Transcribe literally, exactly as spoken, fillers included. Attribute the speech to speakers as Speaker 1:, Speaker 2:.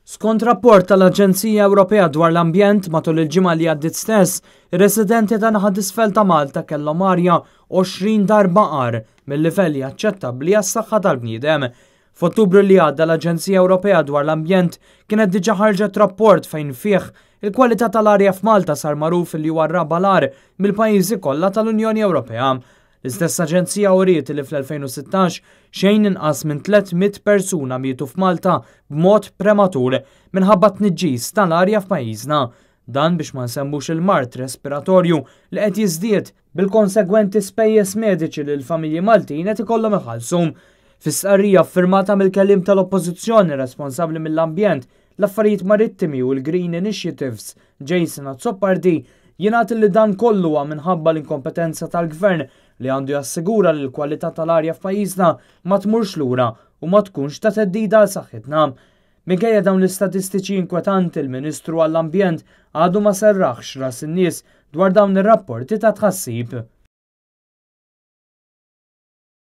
Speaker 1: Skont rapport tal-Aġenzija Ewropea dwar l-Ambjent matul il-ġimgħa li għaddiet stess, ir-residenti ta' naħa t'isfel ta' Malta kellhom arja għoxrin darba agħar mill-livelli aċċettabbli għas-saħħa tal-bniedem. F'Ottubru li għadda l-Aġenzija Ewropea dwar l-Ambjent kienet diġà ħarġet rapport fejn fih il-kwalità tal-arja f'Malta sar magħruf li huwa r-raba' l-agħar mill-pajjiżi kollha tal-Unjoni Ewropea. L-istess aġenzija uriet li fl-elfejn u sittax xejn inqas minn tliet mitt persuna mietu f'Malta b'mod prematur minħabba tniġġis tal-arja f'pajjiżna. Dan biex ma nsemmux il-mard respiratorju li qed jiżdied bil-konsegwenti spejjeż mediċi li l-familji Maltin qed ikollhom iħallsu. Fi stqarrija ffirmata mill-kelliem tal-Oppożizzjoni responsabbli mill-ambjent, l-affarijiet marittimi u l-Green Initiatives, Jason Azzopardi, jingħad li dan kollu huwa minħabba l-inkompetenza tal-gvern li għandu jassigura li l-kwalità tal-arja f'pajjiżna ma tmurx lura u ma tkunx ta' theddida għal saħħitna. Minkejja dawn l-istatistiċi inkwetanti, il-Ministru għall-Ambjent għadu ma serraħx ras in-nies dwar dawn ir-rapporti ta' tħassib.